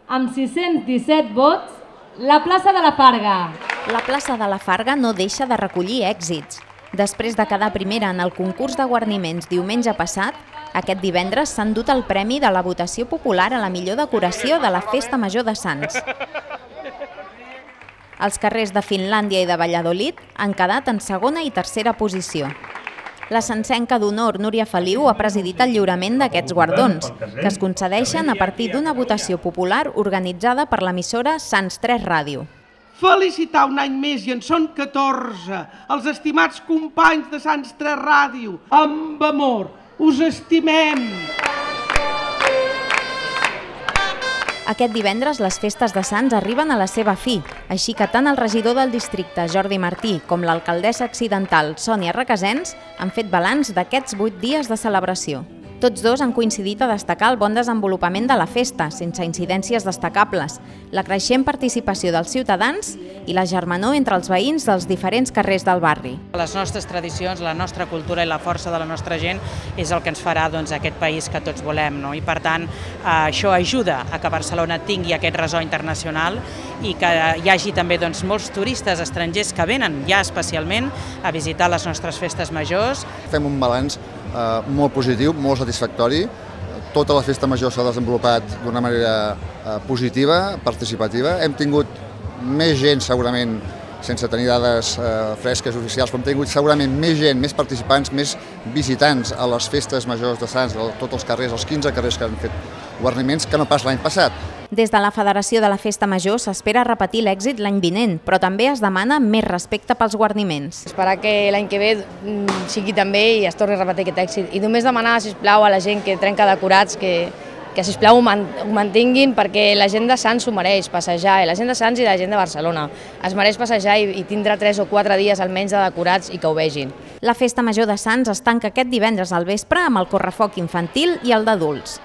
amb 617 vots, la plaça de la Farga. La plaça de la Farga no deixa de recollir èxits. Després de quedar primera en el concurs de guarniments diumenge passat, aquest divendres s'ha endut el premi de la votació popular a la millor decoració de la Festa Major de Sants. Els carrers de Finlàndia i de Valladolid han quedat en segona i tercera posició. La sancenca d'honor Núria Feliu ha presidit el lliurament d'aquests guardons, que es concedeixen a partir d'una votació popular organitzada per l'emissora Sants 3 Ràdio. Felicitar un any més, i en són 14, els estimats companys de Sants 3 Ràdio. Amb amor, us estimem! Aquest divendres les festes de Sants arriben a la seva fi, així que tant el regidor del districte, Jordi Martí, com l'alcaldessa accidental, Sònia Requesens, han fet balanç d'aquests 8 dies de celebració. Tots dos han coincidit a destacar el bon desenvolupament de la festa, sense incidències destacables, la creixent participació dels ciutadans i la germanor entre els veïns dels diferents carrers del barri. Les nostres tradicions, la nostra cultura i la força de la nostra gent és el que ens farà aquest país que tots volem. I per tant, això ajuda a que Barcelona tingui aquest ressò internacional i que hi hagi també molts turistes estrangers que venen ja especialment a visitar les nostres festes majors. Fem un balanç molt positiu, molt satisfactori. Tota la festa major s'ha desenvolupat d'una manera positiva, participativa. Hem tingut més gent, segurament, sense tenir dades fresques oficials, però hem tingut segurament més gent, més participants, més visitants a les festes majors de Sants, a tots els carrers, els 15 carrers que han fet guarniments, que no pas l'any passat. Des de la Federació de la Festa Major s'espera repetir l'èxit l'any vinent, però també es demana més respecte pels guarniments. Esperar que l'any que ve sigui també i es torni a repetir aquest èxit. I només demanar, sisplau, a la gent que trenca decorats que sisplau ho mantinguin, perquè la gent de Sants s'ho mereix, passejar, la gent de Sants i la gent de Barcelona. Es mereix passejar i tindre 3 o 4 dies almenys de decorats i que ho vegin. La Festa Major de Sants es tanca aquest divendres al vespre amb el correfoc infantil i el d'adults.